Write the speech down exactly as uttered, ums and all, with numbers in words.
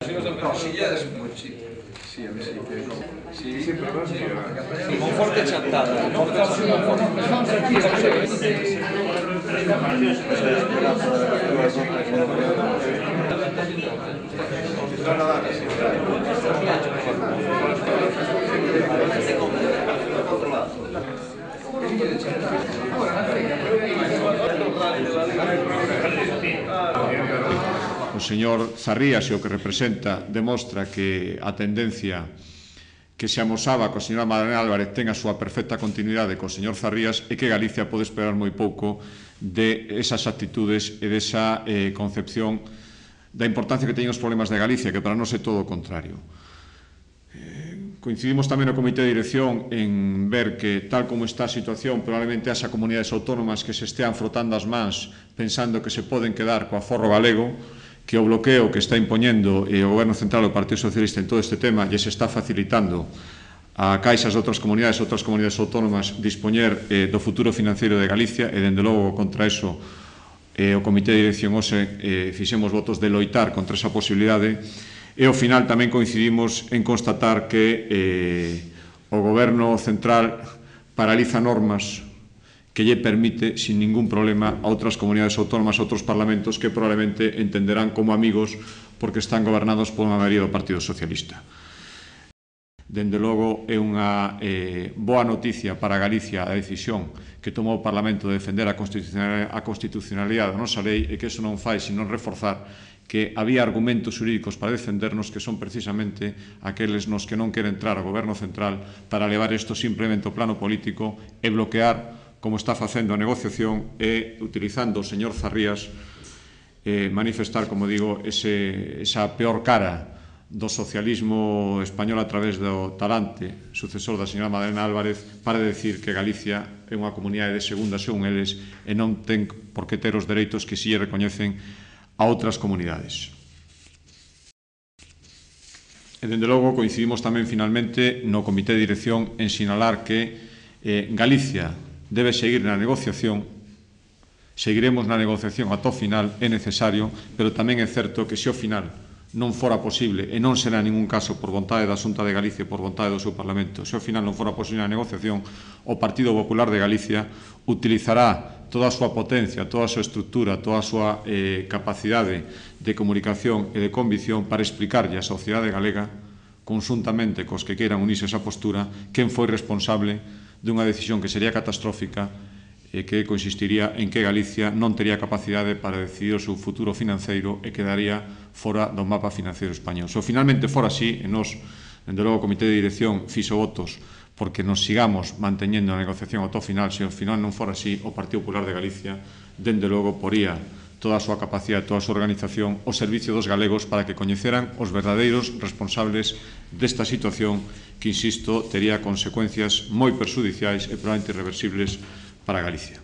No, Sillades un buen sitio. Sí, a ver si sí, sí, pero sí. Monforte Chantada. O señor Zarrías e o que representa demostra que a tendencia que se amosaba co señora Madalena Álvarez ten a súa perfecta continuidade co señor Zarrías e que Galicia pode esperar moi pouco de esas actitudes e desa eh, concepción da importancia que teñen os problemas de Galicia, que para nós é todo o contrario. Eh, coincidimos tamén no Comité de Dirección en ver que, tal como está a situación, probablemente haxa comunidades autónomas que se estean frotando as mans pensando que se poden quedar co aforro galego, que o bloqueo que está impoñendo o Goberno Central e o Partido Socialista en todo este tema lle se está facilitando a caixas de outras comunidades, outras comunidades autónomas dispoñer eh, do futuro financeiro de Galicia e, dende logo, contra eso eh, o Comité de Dirección hoxe eh, fixemos votos de loitar contra esa posibilidade e ao final tamén coincidimos en constatar que eh, o Goberno Central paraliza normas que lle permite, sin ningún problema, a outras comunidades autónomas, a outros parlamentos que probablemente entenderán como amigos porque están gobernados por unha maioría do Partido Socialista. Dende logo, é unha eh, boa noticia para Galicia a decisión que tomou o Parlamento de defender a constitucionalidade, a constitucionalidade da nosa lei e que eso non fai sino reforzar que había argumentos xurídicos para defendernos que son precisamente aqueles nos que non quere entrar o Goberno Central para levar isto simplemente ao plano político e bloquear como está facendo a negociación e utilizando o señor Zarrías eh, manifestar, como digo, ese, esa peor cara do socialismo español a través do talante sucesor da señora Madalena Álvarez para decir que Galicia é unha comunidade de segunda según eles e non ten por que ter os dereitos que si lle recoñecen a outras comunidades. E, dende logo, coincidimos tamén finalmente no Comité de Dirección en sinalar que eh, Galicia debe seguir na negociación, seguiremos na negociación ata o final, é necesario, pero tamén é certo que se ao final non fora posible, e non será en ningún caso por vontade da Xunta de Galicia, por vontade do seu Parlamento, se ao final non fora posible a negociación, o Partido Popular de Galicia utilizará toda a súa potencia, toda a súa estructura, toda a súa eh, capacidade de comunicación e de convicción para explicarlle á sociedade galega, conjuntamente cos que queiran unirse a esa postura, quen foi responsable dunha decisión que sería catastrófica e que consistiría en que Galicia non tería capacidade para decidir o seu futuro financeiro e quedaría fora do mapa financeiro español. Se finalmente fora así, e nos, dende logo, o Comité de Dirección fixo votos porque nos sigamos manteñendo a negociación ao final, se ao final non fora así, o Partido Popular de Galicia, dende logo, poría toda a súa capacidade, toda a súa organización ao servicio dos galegos para que coñeceran os verdadeiros responsables desta situación que, insisto, tería consecuencias moi perxudiciais e probablemente irreversibles para Galicia.